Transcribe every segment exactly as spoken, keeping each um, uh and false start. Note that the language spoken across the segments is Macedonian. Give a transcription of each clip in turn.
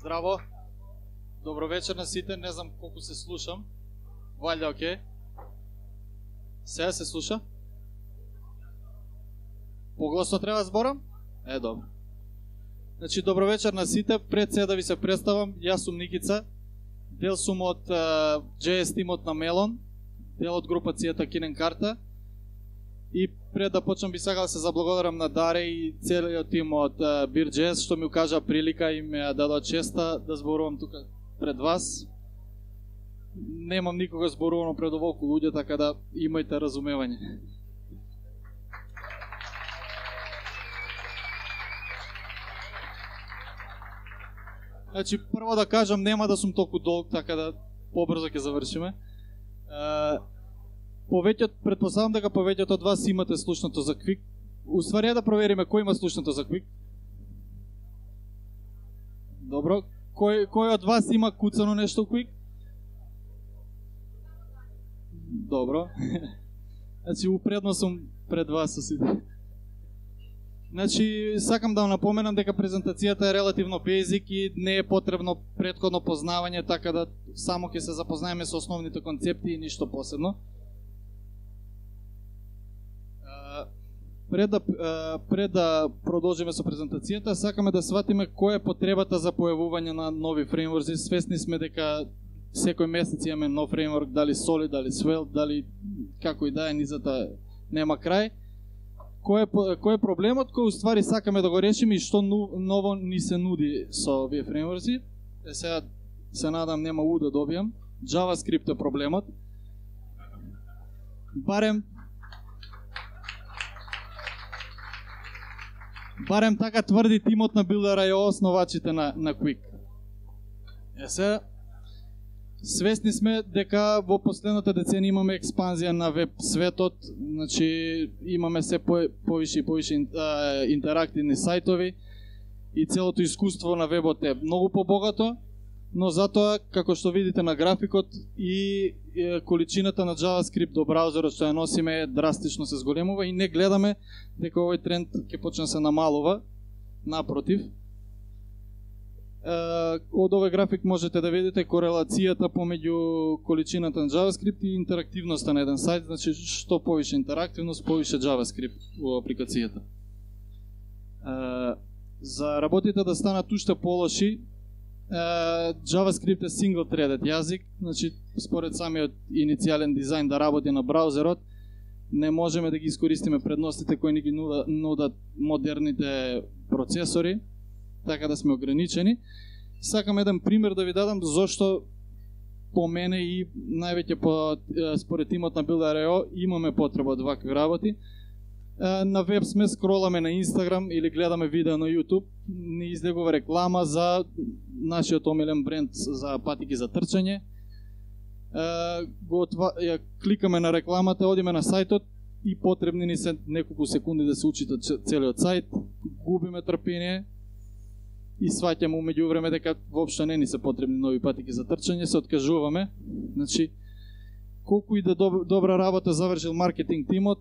Здраво. Добро вечер на сите. Не знам колку се слушам. Валјда окей. Сега се слуша? Погласно треба зборам? Е, добро. Значи, добро вечер на сите. Пред се да ви се представам, јас сум Никица. Дел сум од uh, джей ес тимот на Мелон, дел од групацијата Кинен Карта. И пред да почнам би сакал да се заблагодарам на Даре и целиот тим од uh, Бир джей ес што ми укажа прилика и ме дадоа честа да зборувам тука пред вас. Немам никога зборувано пред оволку луѓе, така да имајте разумевање. Значи, прво да кажам, нема да сум толку долг, така да побрзо ќе завршиме. Uh, Повеќето, предпоставам дека повеќето од вас имате слушнато за Quick. Уствари да провериме кој има слушнато за Quick. Добро. Кој, кој од вас има куцано нешто Quick? Добро. Значи, упредно сум пред вас со сите. Значи, сакам да напоменам дека презентацијата е релативно basic и не е потребно претходно познавање, така да само ќе се запознаеме со основните концепти и ништо посебно. Пред да, пред да продолжиме со презентацијата, сакаме да сватиме која е потребата за појавување на нови фреймворци. Свесни сме дека секој месец имаме нов фреймворк, дали Solid, дали Svelte, дали како и да е, низата нема крај. Кој е, кој е проблемот кој уствари сакаме да го решиме и што ново ни се нуди со овие фреймворци? Е, сега се надам нема у да добијам. JavaScript е проблемот. Барем Барем така тврди тимот на Builder.io, основачите на, на Quick. Е, сега, свесни сме дека во последната деценија имаме експанзија на веб светот, значи имаме се по, повише и повише интерактивни сајтови и целото искуство на вебот е многу побогато, но затоа, како што видите на графикот, и е, количината на JavaScript до браузерот што ја носиме драстично се зголемува и не гледаме дека овој тренд ќе почне да се намалува, напротив. Е, од овој график можете да видите корелацијата помеѓу количината на JavaScript и интерактивноста на еден сајт, значи што повише интерактивност, повише JavaScript во апликацијата. Е, за работите да станат уште полоши, Uh, JavaScript е single-threaded јазик, значи според самиот иницијален дизајн да работи на браузерот, не можеме да ги искористиме предностите кои ни ги нудат, нудат модерните процесори, така да сме ограничени. Сакам еден пример да ви дадам зошто по мене и највеќе по според тимот на Builder.io имаме потреба од вакви работи. На веб сме, скроламе на Instagram или гледаме видео на YouTube, ни излегува реклама за нашиот омилен бренд за патики за трчање. Го отва... кликаме на рекламата, одиме на сајтот и потребни ни се неколку секунди да се учита целиот сајт, губиме трпение и сваќаме умеѓу време дека воопшто не ни се потребни нови патики за трчање, се откажуваме. Значи, колку и да добра работа завршил маркетинг тимот,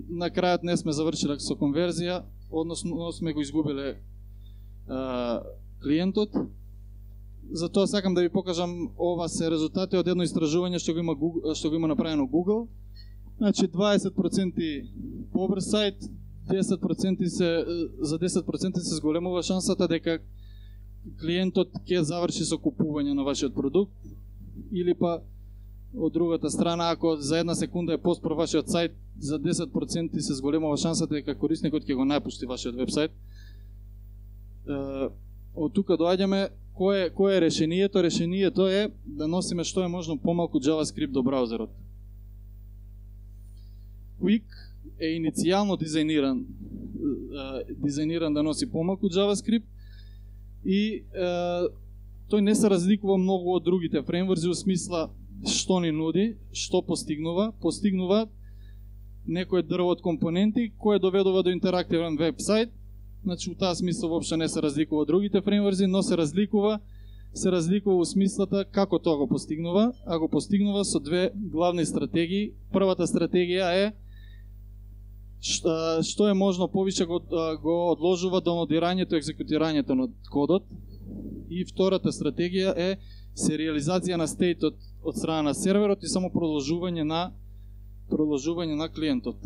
на крајот не сме завршиле со конверзија, односно сме го изгубиле а, клиентот. Затоа сакам да ви покажам, ова се резултати од едно истражување што го има Google, што го има направено Google. Значи дваесет проценти побрз сајт, десет проценти се за десет проценти се зголемува шансата дека клиентот ќе заврши со купување на вашиот продукт, или па од другата страна, ако за една секунда е поспор вашиот сајт, за десет проценти се зголемува шансата дека корисникот ќе го напушти вашиот вебсајт. Од тука доаѓаме кое кое е решението? Решението е да носиме што е можно помалку JavaScript до браузерот. Quick е иницијално дизајниран дизајниран да носи помалку JavaScript и тој не се разликува многу од другите фреймворци во смисла што ни нуди, што постигнува, постигнува некој дрво од компоненти кој доведува до интерактивен веб-сайт. Значи, у таа смисла воопшто не се разликува од другите фреймворци, но се разликува, се разликува во смислата како тоа го постигнува, а го постигнува со две главни стратегии. Првата стратегија е што е можно повише го, го одложува до нодирањето и екзекутирањето на кодот И втората стратегија е сериализација на стейтот од страна на серверот и само продолжување на продолжување на клиентот.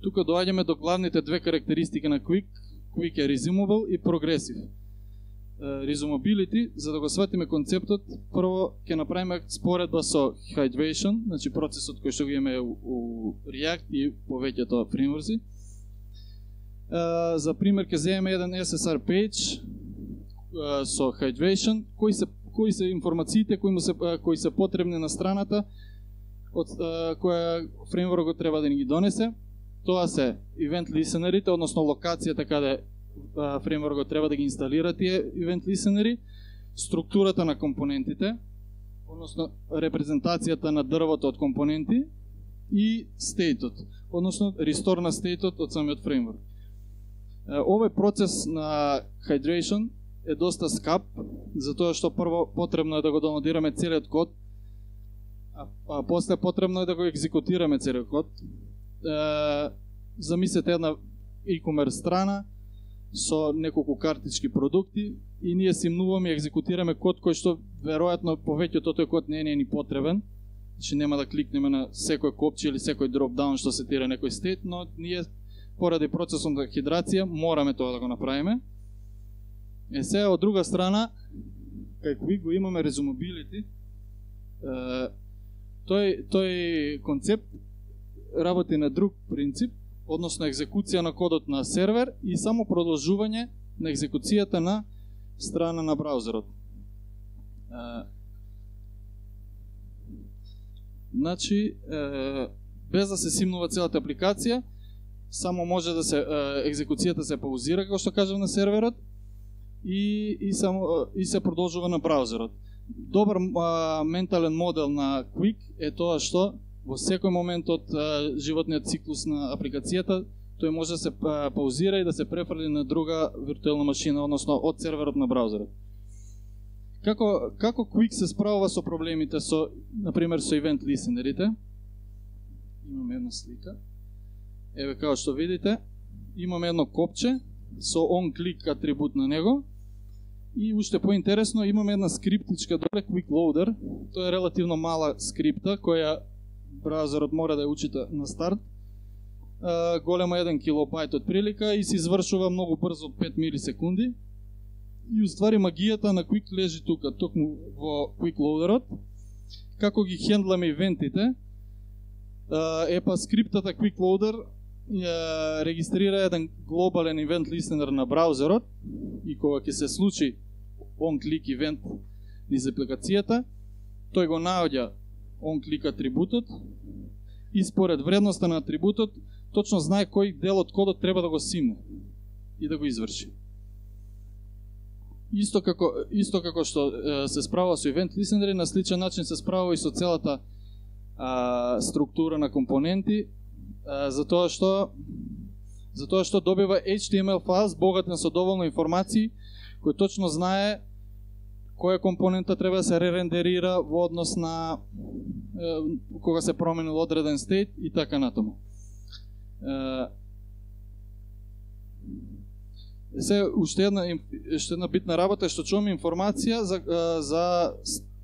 Тука доаѓаме до главните две карактеристики на Quick. Quick е resumable и progressive. Resumability, за да го сватиме концептот, прво ќе направиме споредба со hydration, значи процесот кој што го имаме у, у React и повеќето фреймворци. За пример ќе земеме еден ес ес ар page со hydration, кои се кои се информациите кои му се кои се потребни на страната од која фреймворкот треба да ни ги донесе. Тоа се event listenerите, односно локацијата каде фреймворкот треба да ги инсталира тие event listeneri, структурата на компонентите, односно репрезентацијата на дрвото од компоненти и стейтот, односно restore на стейтот од самиот фреймворк. Овој процес на hydration е доста скап, затоа што прво потребно е да го доwnloadираме целиот код, а, а после потребно е да го екзекутираме целиот код. Е, замислете една e-commerce страна со неколку картички продукти и ние симнуваме и екзекутираме код кој што веројатно повеќето тој код не е ни потребен, значи нема да кликнеме на секој копче или секој дропдаун што сетира некој стейт, но ние поради процесот на хидрација мораме тоа да го направиме. Е сега од друга страна, кај кој го имаме resumability, тој тој концепт работи на друг принцип, односно екзекуција на кодот на сервер и само продолжување на екзекуцијата на страна на браузерот. Значи, без да се симнува целата апликација, само може да се екзекуцијата се паузира, како што кажам, на серверот и и само и се продолжува на браузерот. Добар а, ментален модел на Quick е тоа што во секој момент од а, животниот циклус на апликацијата тој може да се а, паузира и да се префрли на друга виртуелна машина, односно од серверот на браузерот. Како како Quick се справува со проблемите со, на пример, со event listenerите? Имаме една слика. Еве како што видите, имаме едно копче со on-click атрибут на него. И уште поинтересно, имаме една скриптичка доле, Quick Loader. Тоа е релативно мала скрипта која браузерот мора да ја учита на старт. Uh, голема еден килобајт од прилика и се извршува многу брзо, пет милисекунди. И уствари магијата на Quick лежи тука, токму во Quick Loaderот. Како ги хендламе ивентите? Uh, е па скриптата Quick Loader uh, регистрира еден глобален event listener на браузерот и кога ќе се случи on-click event низ апликацијата, тој го наоѓа on-click атрибутот и според вредноста на атрибутот точно знае кој дел од кодот треба да го симне и да го изврши. Исто како исто како што е, се справува со event listener, на сличен начин се справува и со целата а, структура на компоненти, а, затоа што затоа што добива H T M L файл богатен со доволно информации, кој точно знае која компонента треба да се ререндерира во однос на е, кога се променил одреден стейт и така натаму. Е, се уште една уште една битна работа е што чуваме информација за за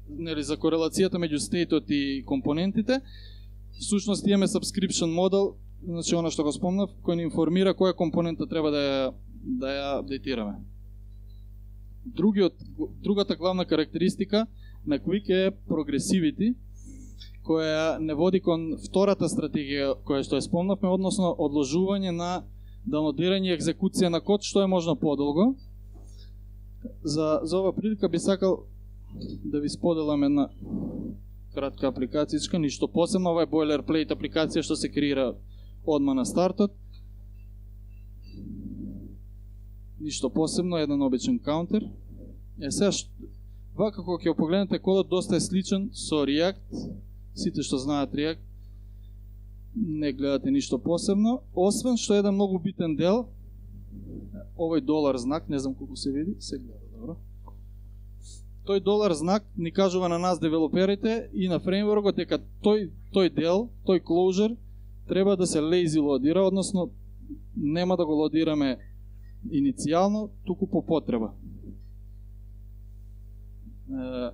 нели за корелацијата меѓу стейтот и компонентите. Всушност имаме subscription модел, значи она што го спомнав, кој ни информира која компонента треба да ја да ја апдейтираме. Другиот, другата главна карактеристика на Quick е progressivity, која не води кон втората стратегија која што ја спомнавме, односно одложување на даунлодирање и екзекуција на код што е можно подолго. За, за ова прилика би сакал да ви споделам една кратка апликацијска, ништо посебно, ова е boilerplate апликација што се креира одма на стартот. Ништо посебно, еден обичен каунтер. Е сега, вака кога ќе погледнете кодот, доста е сличен со React. Сите што знаат React не гледате ништо посебно, освен што еден многу битен дел, овој долар знак, не знам колку се види, се гледа добро. Тој долар знак ни кажува на нас девелоперите и на фреймворкот дека тој тој дел, тој closure треба да се lazy лодира, односно нема да го лодираме иницијално, туку по потреба. Е,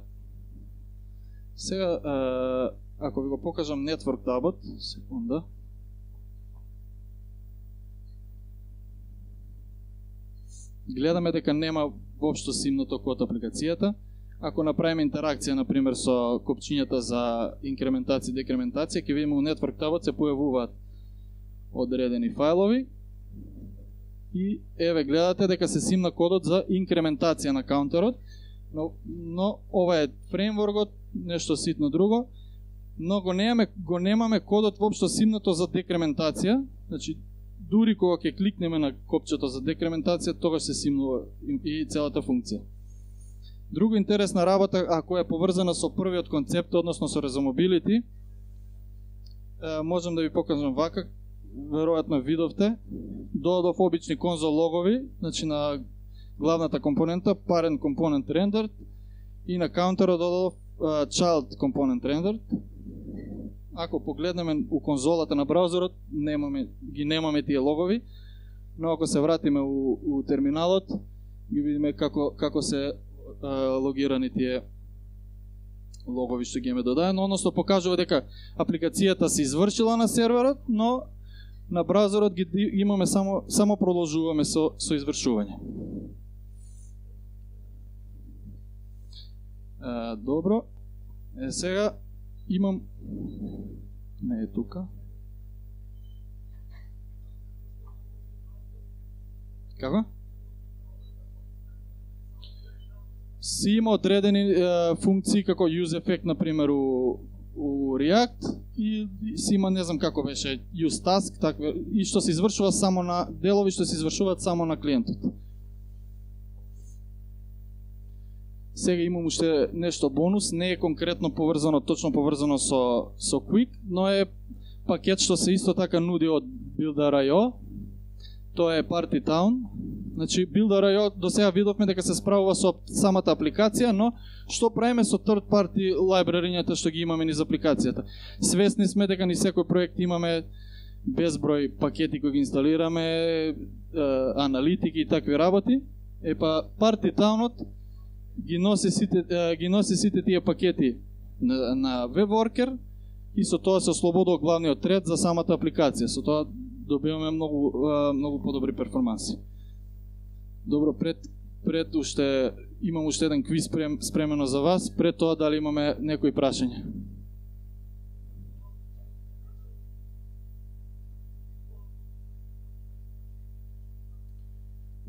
сега, е, ако ви го покажам Network табот, секунда. Гледаме дека нема воопшто симното код апликацијата. Ако направиме интеракција, например, со копчињата за инкрементација и декрементација, ќе видиме у Network табот се појавуваат одредени фајлови и еве гледате дека се симна кодот за инкрементација на каунтерот, но, но ова е фреймворкот, нешто ситно друго, но го немаме, го немаме кодот воопшто симнато за декрементација, значи дури кога ќе кликнеме на копчето за декрементација, тогаш се симнува и целата функција. Друго интересна работа, ако е поврзана со првиот концепт, односно со Resumability, можам да ви покажам вака, веројатно видовте, додадов обични конзол логови, значи на главната компонента, parent component rendered, и на каунтерот додадов uh, child component rendered. Ако погледнеме у конзолата на браузерот, немаме, ги немаме тие логови, но ако се вратиме у, у терминалот, ги видиме како, како се uh, логирани тие логови што ги имаме додаено, односно покажува дека апликацијата се извршила на серверот, но на браузерот ги имаме само само продолжуваме со со извршување. Е, добро. Е, сега имам не е тука. Како? Си има одредени е, функции како use effect, например, у, у React, и си има, не знам како беше, use task, такве, и што се извршува само на делови што се извршуваат само на клиентот. Сега имам уште нешто бонус, не е конкретно поврзано, точно поврзано со со Quick, но е пакет што се исто така нуди од Builder.io. Тоа е Party Town. Значи Builder.io до сега видовме дека се справува со самата апликација, но што правиме со third party лайбрарињата што ги имаме низ апликацијата? Свесни сме дека ни секој проект имаме безброј пакети кои ги инсталираме, е, аналитики и такви работи. Е па Party Town-от ги носи сите е, ги носи сите тие пакети на, на WebWorker и со тоа се ослободува главниот ред за самата апликација. Со тоа добиваме многу многу подобри перформанси. Добро, пред пред уште имам уште еден квиз спрем, спремено за вас, пред тоа дали имаме некои прашања.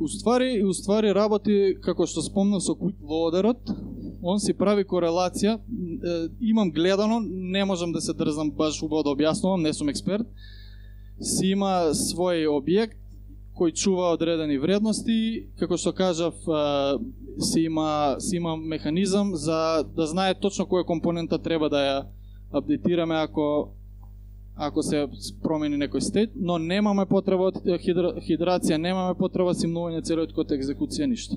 Уствари, уствари работи, како што спомнав со Quick Loader-от, он си прави корелација, е, имам гледано, не можам да се дрзнам баш убаво да објаснувам, не сум експерт, си има свој објект кој чува одредени вредности, како што кажав, си има, си има механизам за да знае точно која компонента треба да ја апдейтираме ако ако се промени некој стейт, но немаме потреба од хидра, хидрација, немаме потреба симнување целиот код екзекуција, ништо.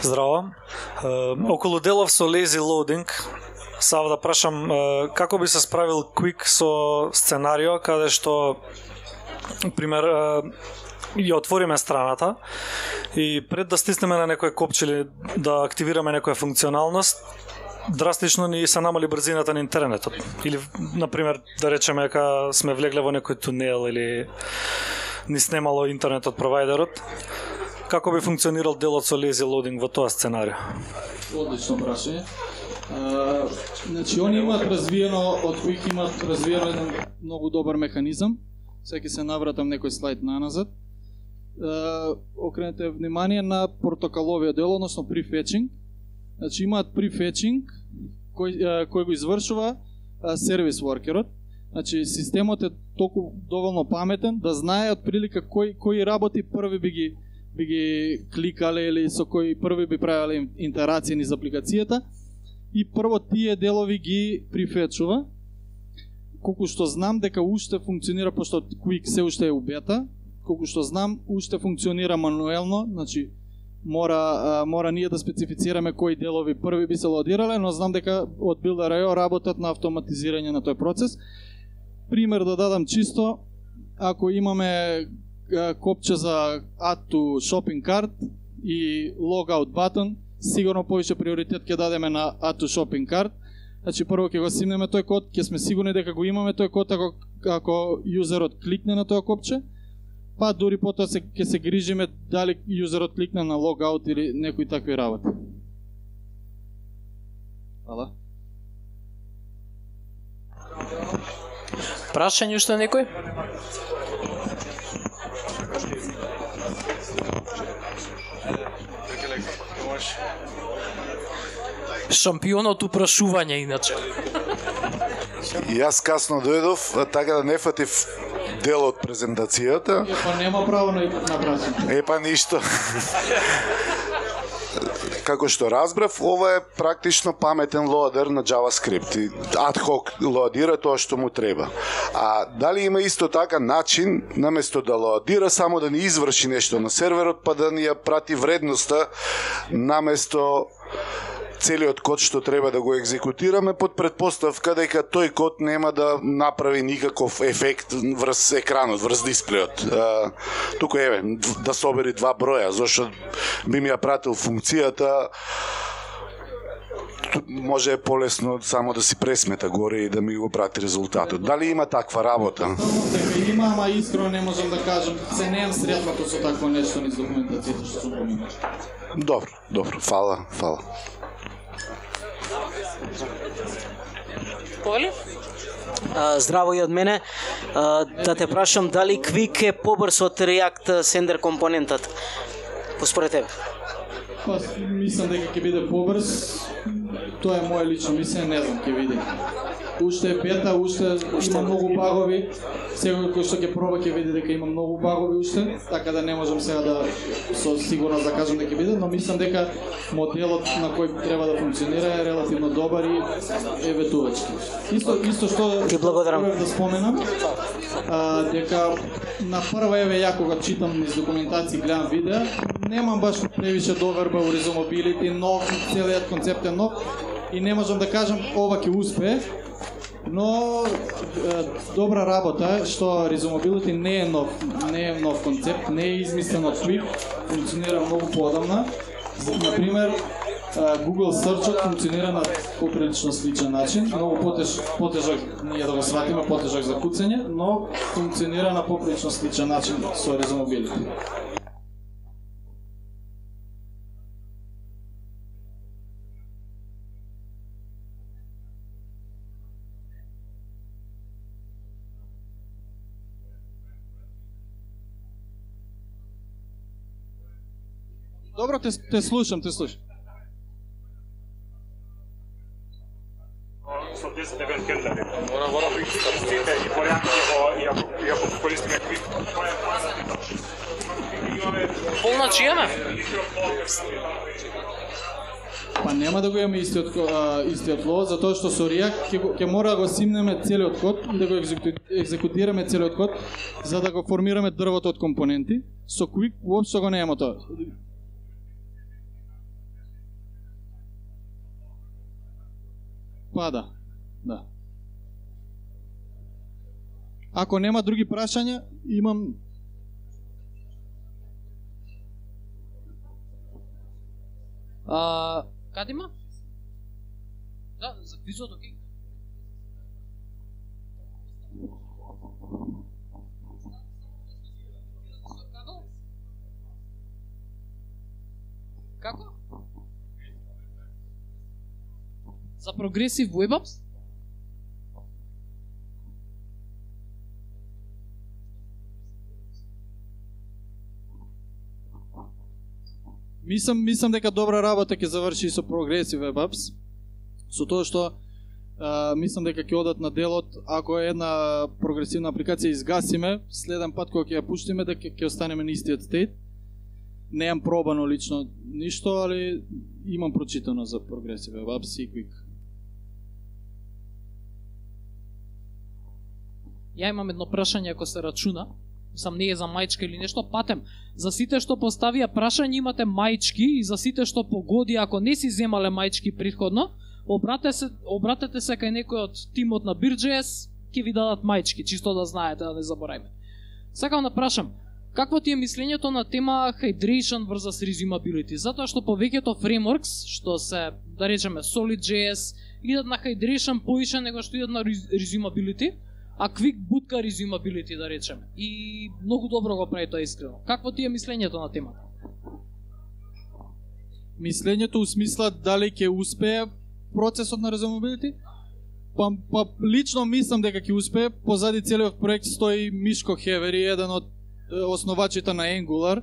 Здраво. Е, околу делов со lazy loading, сава да прашам е, како би се справил Quick со сценарио каде што, пример, е, ја отвориме страната и пред да стиснеме на некој копче или да активираме некоја функционалност, драстично ни се намали брзината на интернетот. Или, например, да речеме дека сме влегле во некој тунел или ни снемало интернет од провајдерот. Како би функционирал делот со lazy loading во тоа сценарио? Одлично прашање. Значи, они имаат развиено, од Quick имаат развиено еден многу добар механизам. Сега ќе се навратам некој слайд наназад. Uh, окренете внимание на протоколовиот дел, односно prefetching. Значи имаат prefetching кој, uh, кој го извршува uh, сервис воркерот. Значи системот е толку доволно паметен да знае отприлика кој кои работи први би ги би ги кликале или со кои први би правеле интерација низ апликацијата и прво тие делови ги префетчува. Колку што знам дека уште функционира, пошто Quick се уште е у бета, колку што знам, уште функционира мануелно, значи мора мора ние да специфицираме кои делови први би се лодирале, но знам дека од Builder.io работат на автоматизирање на тој процес. пример да дадам чисто, ако имаме копче за Add to Shopping Cart и Logout button, сигурно повеќе приоритет ќе дадеме на Add to Shopping Cart. Значи прво ќе го симнеме тој код, ќе сме сигурни дека го имаме тој код ако ако юзерот кликне на тоа копче, па дури потоа се ќе се грижиме дали юзерот кликне на Logout или некои такви работи. Ала? Прашање уште некој? Шампионот упрашување иначе. Јас касно дојдов, така да не фатив дел од презентацијата. Епа нема право на прашање. Епа ништо. Како што разбрав, ова е практично паметен лоадер на JavaScript и ad hoc лоадира тоа што му треба. А дали има исто така начин, наместо да лоадира, само да ни изврши нешто на серверот, па да ни ја прати вредноста наместо целиот код што треба да го екзекутираме, под предпоставка дека тој код нема да направи никаков ефект врз екранот, врз дисплеот. А, туку еве, да собери два броја, зашто би ми ја пратил функцијата, може е полесно само да си пресмета горе и да ми го прати резултатот. Дали има таква работа? Дека има, ама искрено не можам да кажам, се неам сретнато со такво нешто низ документацијата што сум поминал. Добро, добро, фала, фала. Коли? Здраво и од мене. А, да те прашам дали Quick е побрз од React Sender компонентот? Поспоред тебе. Па, мислам дека ќе биде побрз. Тоа е моје лично мислење, не знам, ќе види. Уште е бета, уште има многу багови. Секој кој што ќе проба ќе види дека има многу багови уште, така да не можам сега да со сигурност да кажам дека ќе биде, но мислам дека моделот на кој треба да функционира е релативно добар и е ветувачки. Исто исто што Ти благодарам. да споменам, а, дека на прва еве ја кога читам низ документација, гледам видеа, немам баш превише доверба у Resumability, нов, целиот концепт е нов и не можам да кажам ова ќе успее. Но е, добра работа е што Resumability не е нов, не е нов концепт, не е измислен од Quick, функционира многу поодамна. Например, Google Search функционира на поприлично сличен начин, многу потеж, потежак, ние да го сватиме, потежак за куцење, но функционира на поприлично сличен начин со Resumability. Добро, те, те слушам, те слушам. Со десет евент хендлери. Мора, мора да истите и порядки и ако и ако користиме Quick. Полна чијаме? Па нема да го имаме истиот а, истиот лоад, затоа што со React ќе, ќе мора да го симнеме целиот код и да го екзекутираме целиот код за да го формираме дрвото од компоненти. Со Quick воопшто го нема тоа. Па да, да. Ако нема други прашања, имам... А, каде има? Да, за квизот, окей. Како? За Progressive Web Apps? Мислам, мислам дека добра работа ќе заврши со Progressive Web Apps, со тоа што а, мислам дека ќе одат на делот, ако е една прогресивна апликација изгасиме, следен пат кога ќе ја пуштиме дека ќе останеме на истиот стейт. Неам пробано лично ништо, али имам прочитано за Progressive Web Apps и Quick. Ја имам едно прашање ако се рачуна. Сам не е за мајчка или нешто, патем. За сите што поставија прашање имате мајчки и за сите што погоди ако не си земале мајчки претходно, обратете се, обратете се кај некој од тимот на Beer.js, ќе ви дадат мајчки, чисто да знаете, да не забораваме. Сакам да прашам, какво ти е мислењето на тема hydration versus resumability? Затоа што повеќето frameworks, што се, да речеме, Solid.js, идат на hydration поише него што идат на resumability, а Quick бутка resumability, да речеме. И многу добро го прави тоа искрено. Какво ти е мислењето на темата? Мислењето у смисла дали ќе успее процесот на resumability? Па, па лично мислам дека ќе успее. Позади целиот проект стои Мишко Хевери, еден од основачите на Angular.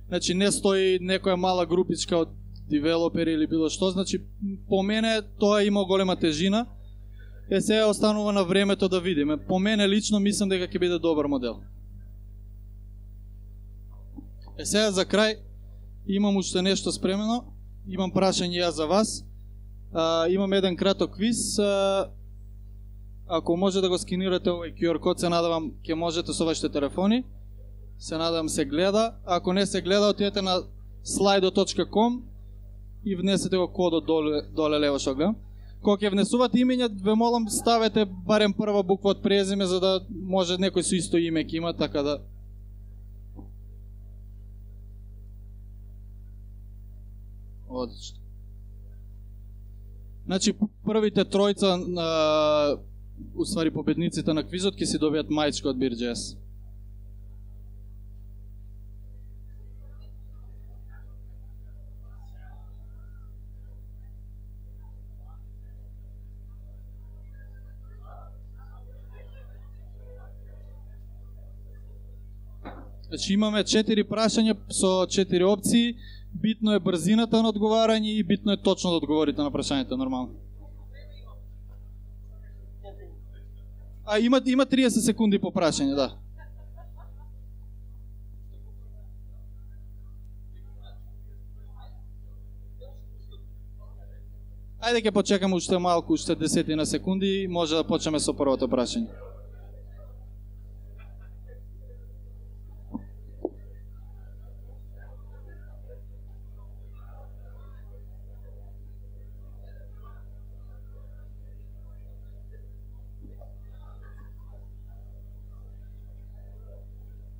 Значи не стои некоја мала групичка од девелопери или било што. Значи по мене тоа има голема тежина. Е сега останува на времето да видиме. По мене лично мислам дека ќе биде добар модел. Е сега за крај имам уште нешто спремено. Имам прашање ја за вас. А, имам еден краток квиз. А, ако може да го скинирате овој ку ар код, се надавам ќе можете со вашите телефони. Се надам се гледа. Ако не се гледа, отидете на слайдо точка ком и внесете го кодот доле, доле лево што гледам. Кога ќе внесувате имења, ве молам ставете барем прва буква од презиме, за да може некој со исто име ќе има, така да... Одлично. Значи, првите тројца, на, уствари победниците на квизот, ќе си добијат мајчка од Beer.js. Значи имаме четири прашања со четири опции. Битно е брзината на одговарање и битно е точно да одговорите на прашањето нормално. А има има триесет секунди по прашање, да. Ајде ќе почекаме уште малку, уште десетина секунди, може да почнеме со првото прашање.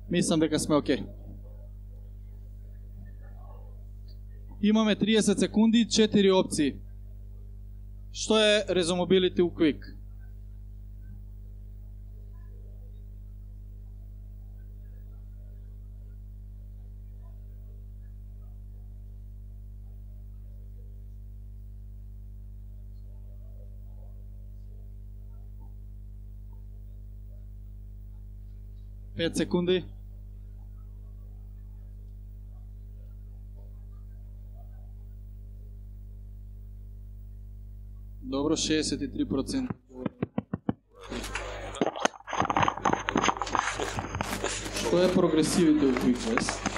Мислам дека сме окей. Имаме триесет секунди, четири опции. Што е resumability у Quick? пет секунди. Добро, шеесет и три проценти. Што е прогресивите у QuickJS?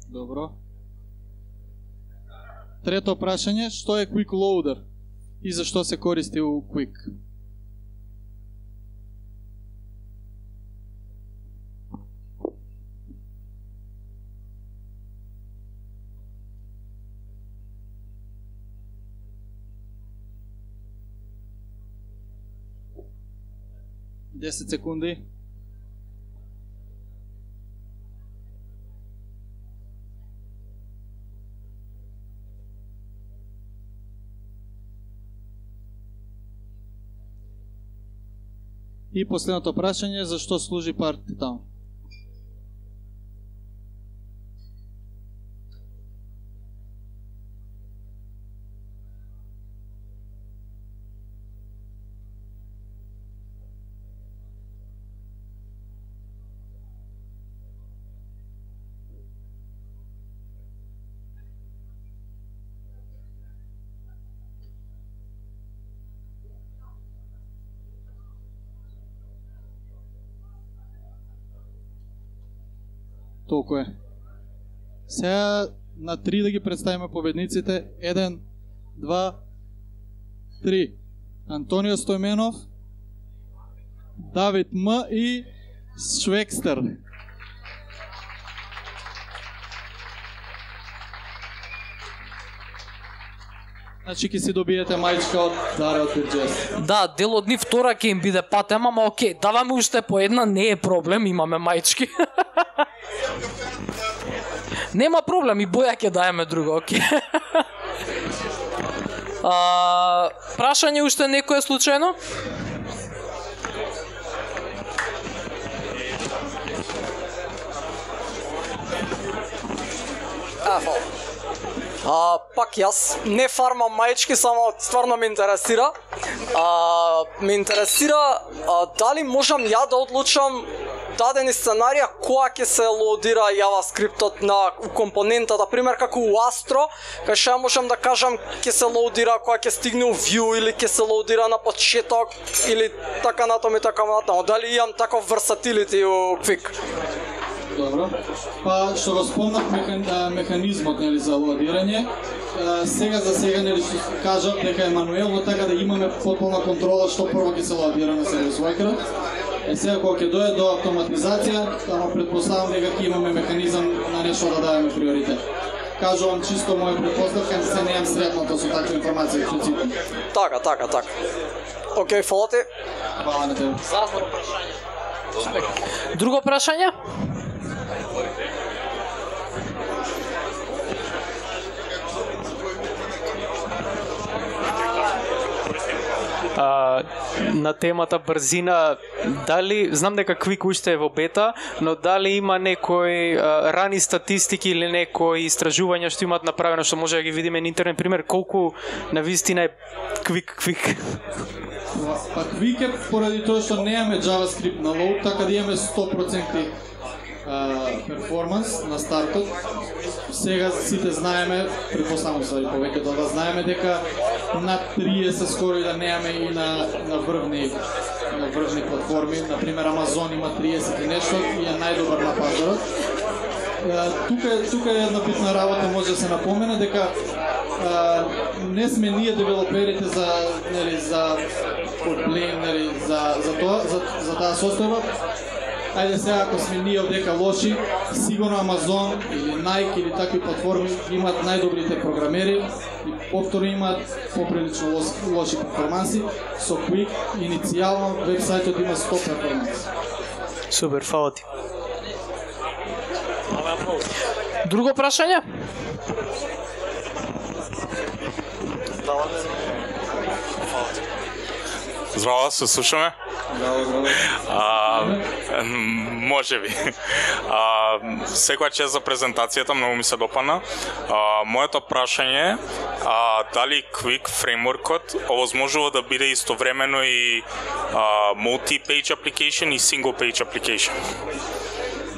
Добро. Трето прашање, што е Quick Loader и зашто се користи у Quick? десет секунди. И последното прашање, зашто служи Party.town? Толку е. Сега на три да ги представиме победниците. Еден, два, три. Антонио Стојменов, Давид М и Швекстер. Значи ќе си добиете мајчка од Даре од Бирџес. Да, дел од нив втора ќе им биде патема, ама окей, даваме уште по една, не е проблем, имаме мајчки. Нема проблем, и боја ќе даеме друго, окей. А, прашање уште некое случајно? Ефо. А, пак јас не фармам мајчки, само стварно ме интересира. А, ме интересира а, дали можам ја да одлучам дадени сценарија која ќе се лоудира JavaScript-от на компонента, да пример како у Astro, кај што ја можам да кажам ќе се лоудира која ќе стигне у Vue или ќе се лоудира на почеток или така натаму и така натаму. Дали имам таков versatility у Quick? Добро. Па што го спомнав механ, механизмот нели за лоадирање, сега за сега нели што кажав дека е мануелно, така да имаме потполна контрола што прво ќе се лоадира на сервис worker. Е сега кога ќе дојде до автоматизација, ама претпоставам дека ќе имаме механизам на нешто да даваме приоритет. Кажувам чисто моја претпоставка, се неам сретното со такви информации во принцип. Така, така, така. Океј, фала ти. Фала на тебе. Друго прашање? А, на темата брзина, дали, знам дека Quick уште е во бета, но дали има некои а, рани статистики или некои истражувања што имаат направено, што може да ги видиме на интернет, пример, колку на вистина е Quick, Quick? Па Quick е поради тоа што немаме JavaScript на load, така да имаме сто проценти перформанс на стартот. Сега сите знаеме, предпоставам се и повеќето од вас знаеме дека над триесет скоро и да немаме и на на врвни на врвни платформи, на пример Amazon има триесет и нешто и е најдобар на пазарот. Тука тука е една битна работа, може да се напомене дека а, не сме ние девелоперите за нели за Kotlin, нели за за тоа за за таа состојба. Ајде сега, ако сме ние овдека лоши, сигурно Amazon или Nike или такви платформи имаат најдобрите програмери и повторно имаат поприлично лоши, лоши перформанси. Со Quick иницијално вебсајтот има сто перформанси. Супер, фала ти. Друго прашање? Здраво, се слушаме? Здраво, здраво. А, може би. А, секоја чест за презентацијата, многу ми се допадна. А, моето прашање е дали Quick фреймворкот овозможува да биде истовремено и а, multi-page application и single-page application?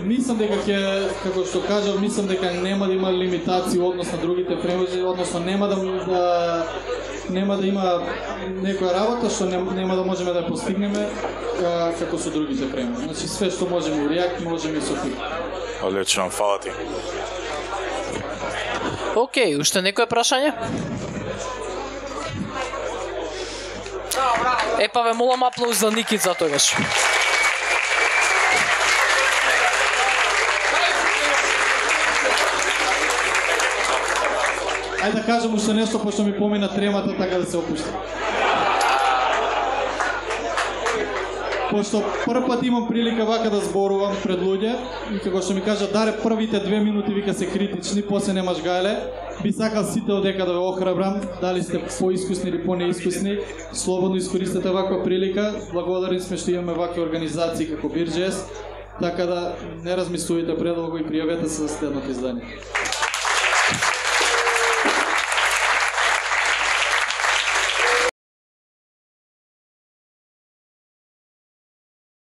Мислам дека ќе, како што кажав, мислам дека нема да има лимитации однос на другите фреймворци, односно нема да, да нема да има некоја работа што нема, нема да можеме да постигнеме а, како со другите фреймворци. Значи све што можеме у React, можеме и со Quick. Одлично, фала ти. Океј, уште некое прашање? Епа ве молам аплауз за Никица тогаш. Ајде да кажам уште нешто, пошто ми помина тремата, така да се опуштам. Пошто прв пат имам прилика вака да зборувам пред луѓе и како што ми кажа, Даре, првите две минути вика се критични, после немаш гајле, би сакал сите одека да ве охрабрам, дали сте поискусни или понеискусни, слободно искористете ваква прилика, благодарни сме што имаме вакви организации како Бирџес, така да не размислувате предолго и пријавете се за следното издание.